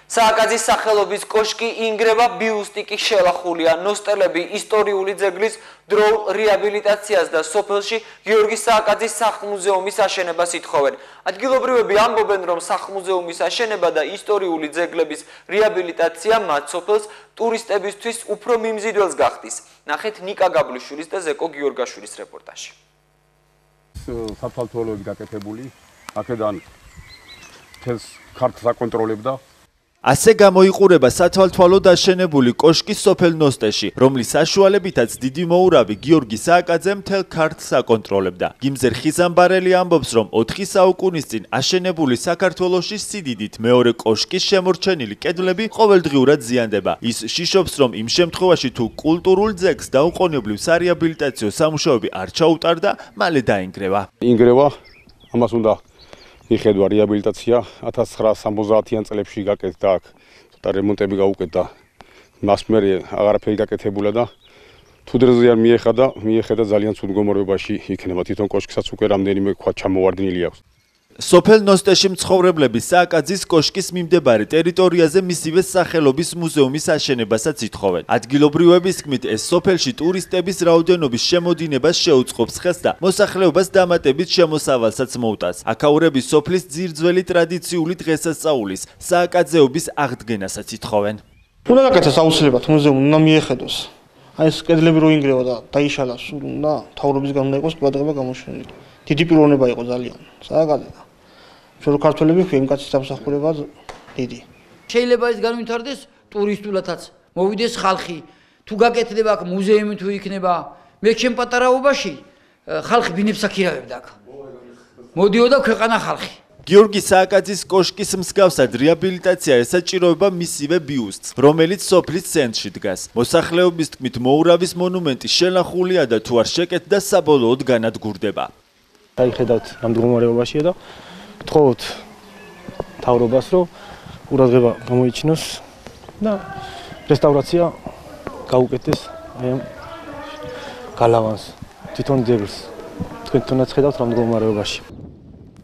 სააკაძის სახელობის კოშკი ინგრევა, ბიუსტი კი შელახულია. ნოსტელები ისტორიული ძეგლის დროულ რეაბილიტაციას და სოფელში გიორგი სააკაძის სახლ-მუზეუმის აშენებას ითხოვენ. ადგილობრივები ამბობენ, რომ სახლ-მუზეუმის აშენება და ისტორიული ძეგლების რეაბილიტაცია მათ სოფელს ტურისტებისთვის უფრო მიმზიდველს გახდის. ნახეთ ნიკა გაბლიშვილის და ზეკო გიორგაშვილის რეპორტაჟი. საფალთოლოები გაკეთებული, აქედან თელს ქართლს აკონტროლებდა. ასე გამოიყურება სათვალთვალო დაშენებული კოშკი სოფელ ნოსტეში, რომლის საშუალებითაც დიდი მოურავი გიორგი სააკაძე მთელ ქართლს აკონტროლებდა. გიმზერ ხიზამბარელი ამბობს, რომ 4 საუკუნის წინ აშენებული საქართველოში სიდიდით მეორე კოშკის შემორჩენილი კედლები ყოველდღიურად ზიანდება. ის შიშობს, რომ იმ შემთხვევაში თუ კულტურულ ძეგლს დაუყოვნებლივ სარეაბილიტაციო სამუშაოები არ ჩაუტარდა, მალე დაინგრევა. ინგრევა, ამას უნდა მიხედვა რეაბილიტაცია 1970-იან წლებში გაკეთდა აქ ცოტა რემონტები გაუკეთდა. მას მერე აღარაფერი გაკეთებულა და თუ დროზე არ მიეხედა ძალიან ცუდ მდგომარეობაში იქნება. თვითონ კოშკსაც უკვე რამდენიმე ქვა ჩამოვარდნილი აქვს. სოფელ ნოსტეში მცხოვრებლები სააკაძის კოშკის მიმდებარე ტერიტორიაზე მისივე სახელობის მუზეუმის აშენებასაც ითხოვენ. ადგილობრივების თქმით, ეს სოფელში ტურისტების რაოდენობის შემოდინებას შეუწყობს ხელს და მოსახლეობას დამატებით შემოსავალსაც მოუტანს. აქაურები სოფლის ძირძველი ტრადიციული დღესასწაულის სააკაძეობის აღდგენასაც ითხოვენ. უნდა გაკეთოს აუცილებლად მუზეუმი, უნდა მიეხედოს. აი ეს კედლები რო ინგრევა და დაიშალა, სულ უნდა მთავრობისგან უნდა იყოს ყურადღება გამოშვენილი. დიდი პიროვნება იყო ძალიან სააკაძე. შორო ქართველები ხომ კაცის სამსახურება დიდი. შეიძლება ეს განვითარდეს ტურისტულათაც, მოვიდეს ხალხი. თუ გაკეთდება აქ მუზეუმი თუ იქნება, მე ჩემ პატარაობაში ხალხი ბინებს აქირავებდა აქ. მოდიოდა ქვეყანა ხალხი. გიორგი სააკაძის კოშკის მსგავსად რეაბილიტაცია ესაჭიროება მისივე ბიუსტს, რომელიც სოფლის ცენტრში დგას. მოსახლეობის თქმით, მოურავის მონუმენტი შელახულია და თუ არ შეკეთდა, საბოლოოდ განადგურდება. დაიხედავთ ამ მდგომარეობაშია და ვთხოვოთ მთავრობას, რომ ყურადღება გამოიჩინოს და რესტავრაცია გაუკეთდეს აი ამ გალავანს, თვითონ ძეგლს. თქვენ თუნდაც ხედავთ ამ მდგომარეობაში.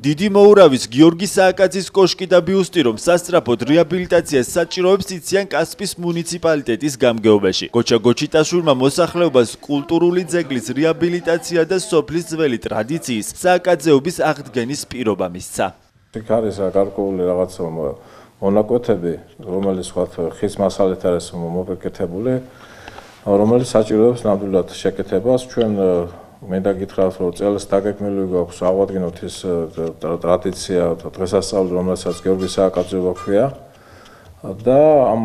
დიდი მოურავის გიორგი სააკაძის კოშკი და ბიუსტი რომ სასწრაფოდ რეაბილიტაციას საჭიროებს იციან კასპის მუნიციპალიტეტის გამგეობაში. გოჩა გოჩიტაშვილმა მოსახლეობას კულტურული ძეგლის რეაბილიტაცია და სოფლის ძველი ტრადიციის სააკაძეობის აღდგენის პირობა მისცა. იქ არის გარკვეული რაღაც მონაკვეთები, რომელიც ვთქვათ ხის მასალით არის მოპირკეთებული, რომელიც საჭიროებს ნამდვილად შეკეთებას. ჩვენ მინდა გითხრათ, რომ წელს დაგეგმილი გვაქვს ავადგინოთ ის ტრადიცია, დღესასწაული, რომელსაც გიორგი სააკაძეობა ქვია და ამ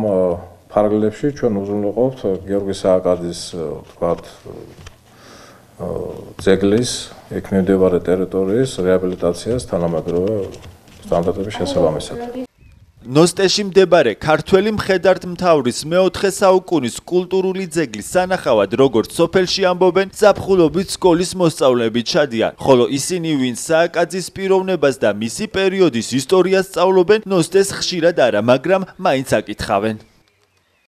ფარგლებში ჩვენ უზრუნველყოფთ გიორგი სააკაძის ვთქვათ ძეგლის იქ მიმდებარე ტერიტორიის რეაბილიტაციას თანამედროვე სტანდარტების შესაბამისად. ნოსტეში მდებარე ქართველი მხედართმთავრის მე-4 საუკუნის კულტურული ძეგლის სანახავად, როგორც სოფელში ამბობენ, ზაფხულობით სკოლის მოსწავლეები ჩადიან, ხოლო ისინი, ვინც სააკაძის პიროვნებას და მისი პერიოდის ისტორიას სწავლობენ, ნოსტეს ხშირად არა, მაგრამ მაინც აკითხავენ.